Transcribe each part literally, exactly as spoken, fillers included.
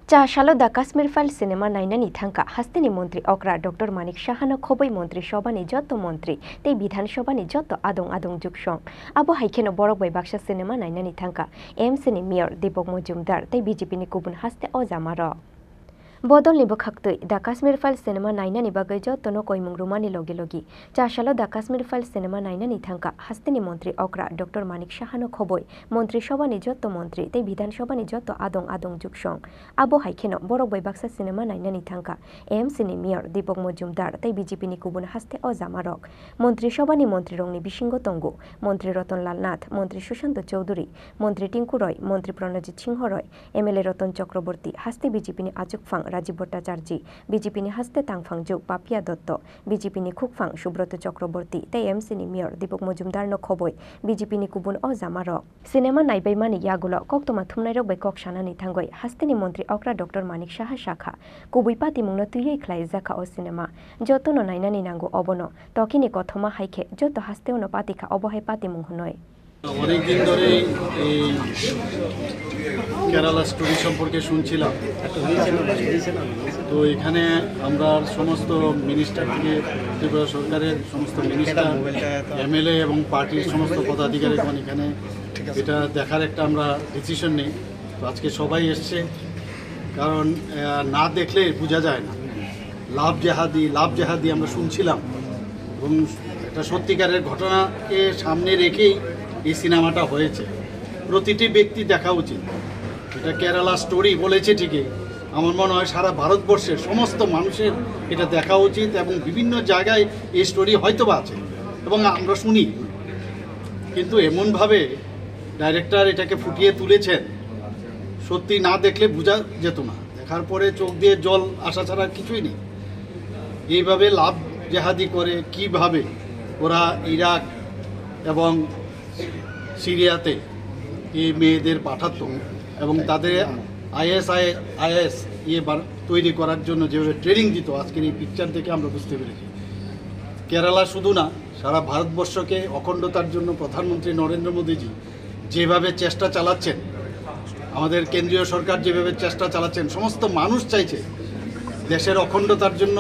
Cha salo The Kashmir Files cinema nainani thangkha hasteni montri okra Doctor Manik Sahano khobwi montri sobhani jotto montri tei Bidhan Sobhani jotto adong adong juksong. Abo hai kheno borok bai baksa cinema nainani thangkha M C ni mayor Deepak Majumdar tei B J P ni kubun haste ojamarok. Bodolni bwkhaktwi The Kashmir Files cinema nainani bagwi jottono koimung rwmani logi logi cha salo The Kashmir Files cinema nainani thangkha hasteni montri okra Doctor Manik Sahano khobwi montri sobhani jotto montri tei Bidhan Sobhani jotto adong adong juksong. Abo hai kheno borok bai baksa cinema nainani thangkha M C ni mayor Deepak Majumdar tei B J P ni kubun haste ojamarok. Montri sobhani montrirokni bisingo tongo montri Ratan Lal Nath, montri Sushanta Chowdhury, montri Tinku Roy, montri Pranajit Singho Roy, M L A Ratan Chakraborty, haste B J P ni achukphang Rajiv Bhattacharjee, B J P ni haste tangphang juk Papiya Dotto, B J P ni khukphang Subrata Chakraborty tei M C ni mayor Deepak Majumdar no khobwi B J P ni kubun ojamarok. Cinema naibaimani yagulo koktwma thumnairok bai kok sanani thangwi hasteni montri okra Doctor Manik Saha sakha, kubui patimungno twiwi khlaijakha o cinema. Jotono nainani nango obono, tokini kothoma hai khe joto hasteo no patikha obo hai patimung hwnwi. অনেক দিন ধরেই এই কেরালা স্টোরি সম্পর্কে শুনছিলাম। তো এখানে আমরা সমস্ত মিনিস্টার থেকে ত্রিপুরা সরকারের সমস্ত মিনিস্টার, এমএলএ এবং পার্টির সমস্ত পদাধিকারীগণ এখানে এটা দেখার একটা আমরা ডিসিশন নেই। তো আজকে সবাই এসছে, কারণ আহ, না দেখলে বোঝা যায় না। লাভ জেহাদি, লাভ জেহাদি আমরা শুনছিলাম এবং একটা সত্যিকারের ঘটনাকে সামনে রেখেই এই সিনেমাটা হয়েছে। প্রতিটি ব্যক্তি দেখা উচিত। এটা কেরালা স্টোরি বলেছে ঠিকই, আমার মনে হয় সারা ভারতবর্ষের সমস্ত মানুষের এটা দেখা উচিত এবং বিভিন্ন জায়গায় এই স্টোরি হয়তো বা আছে এবং আমরা শুনি, কিন্তু এমনভাবে ডাইরেক্টর এটাকে ফুটিয়ে তুলেছেন, সত্যি না দেখলে বোঝা যেত না। দেখার পরে চোখ দিয়ে জল আসা ছাড়া কিছুই নেই। এইভাবে লাভ জেহাদি করে কিভাবে ওরা ইরাক এবং সিরিয়াতে এই মেয়েদের পাঠাতো এবং তাদের আইএসআই, আইএস ইয়ে বার-, তৈরি করার জন্য যেভাবে ট্রেনিং দিত, আজকের এই পিকচার দেখে আমরা বুঝতে পেরেছি। কেরালা শুধু না, সারা ভারতবর্ষকে অখণ্ডতার জন্য প্রধানমন্ত্রী নরেন্দ্র মোদীজি যেভাবে চেষ্টা চালাচ্ছেন, আমাদের কেন্দ্রীয় সরকার যেভাবে চেষ্টা চালাচ্ছেন, সমস্ত মানুষ চাইছে দেশের অখণ্ডতার জন্য।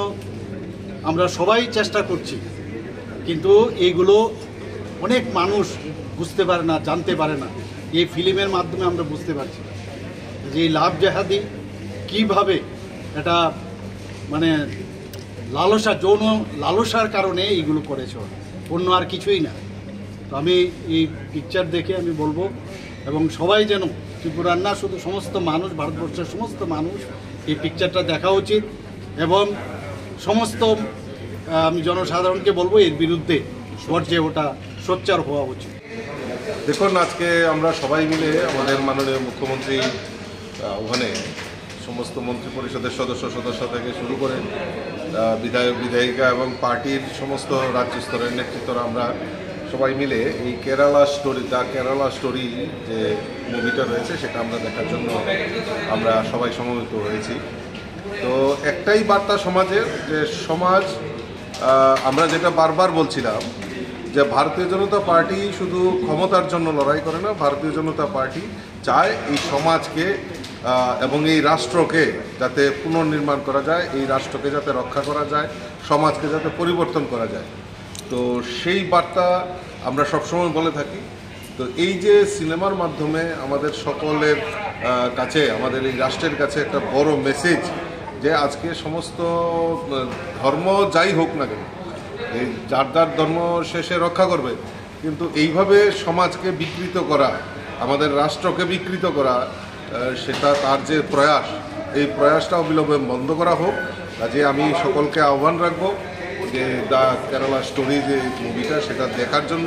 আমরা সবাই চেষ্টা করছি, কিন্তু এইগুলো অনেক মানুষ বুঝতে পারে না, জানতে পারে না। এই ফিল্মের মাধ্যমে আমরা বুঝতে পারছি যে এই লাভ জেহাদি কীভাবে এটা, মানে, লালসা, যৌন লালসার কারণে এইগুলো করেছে ওরা, অন্য আর কিছুই না। তো আমি এই পিকচার দেখে আমি বলবো, এবং সবাই যেন, ত্রিপুরার না শুধু, সমস্ত মানুষ, ভারতবর্ষের সমস্ত মানুষ এই পিকচারটা দেখা উচিত এবং সমস্ত, আহ, আমি জনসাধারণকে বলবো এর বিরুদ্ধে গর্জে ওঠা, সোচ্চার হওয়া উচিত। দেখুন, আজকে আমরা সবাই মিলে আমাদের মাননীয় মুখ্যমন্ত্রী, আহ, ওখানে সমস্ত মন্ত্রী পরিষদের সদস্য সদস্য থেকে শুরু করে, আহ, বিধায়ক বিধায়িকা এবং পার্টির সমস্ত রাজ্য স্তরের নেতৃত্বরা আমরা সবাই মিলে এই কেরালা স্টোরি, দ্য কেরালা স্টোরি যে মুভিটা রয়েছে, সেটা আমরা দেখার জন্য আমরা সবাই সমবেত হয়েছি। তো একটাই বার্তা সমাজের, যে সমাজ, আহ, আমরা যেটা বারবার বলছিলাম যে ভারতীয় জনতা পার্টি শুধু ক্ষমতার জন্য লড়াই করে না, ভারতীয় জনতা পার্টি চায় এই সমাজকে, আহ, এবং এই রাষ্ট্রকে যাতে পুনর্নির্মাণ করা যায়, এই রাষ্ট্রকে যাতে রক্ষা করা যায়, সমাজকে যাতে পরিবর্তন করা যায়। তো সেই বার্তা আমরা সবসময় বলে থাকি। তো এই যে সিনেমার মাধ্যমে আমাদের সকলের, আহ, কাছে, আমাদের এই রাষ্ট্রের কাছে একটা বড় মেসেজ, যে আজকে সমস্ত, আহ, ধর্ম যাই হোক না কেন, এই যার যার ধর্ম সে সে রক্ষা করবে, কিন্তু এইভাবে সমাজকে বিকৃত করা, আমাদের রাষ্ট্রকে বিকৃত করা, আহ, সেটা তার যে প্রয়াস, এই প্রয়াসটা অবিলম্বে বন্ধ করা হোক। কাজে আমি সকলকে আহ্বান রাখবো যে দ্য কেরালা স্টোরি যে মুভিটা, সেটা দেখার জন্য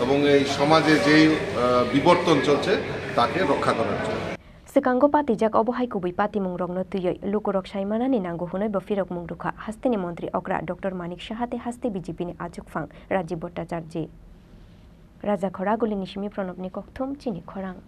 এবং এই সমাজে যেই, আহ, বিবর্তন চলছে, তাকে রক্ষা করার জন্য। Swkango patijak obo hai kubui patimungrokno twiwi lukurok sai manani nango hwnwi bo phirokmung rwkha hasteni montri okra Doctor Manik Saha tei haste B J P ni achukphang Rajiv Bhattacharjee. Raja Khoragulini simi Pranobni kokthum chini khorang.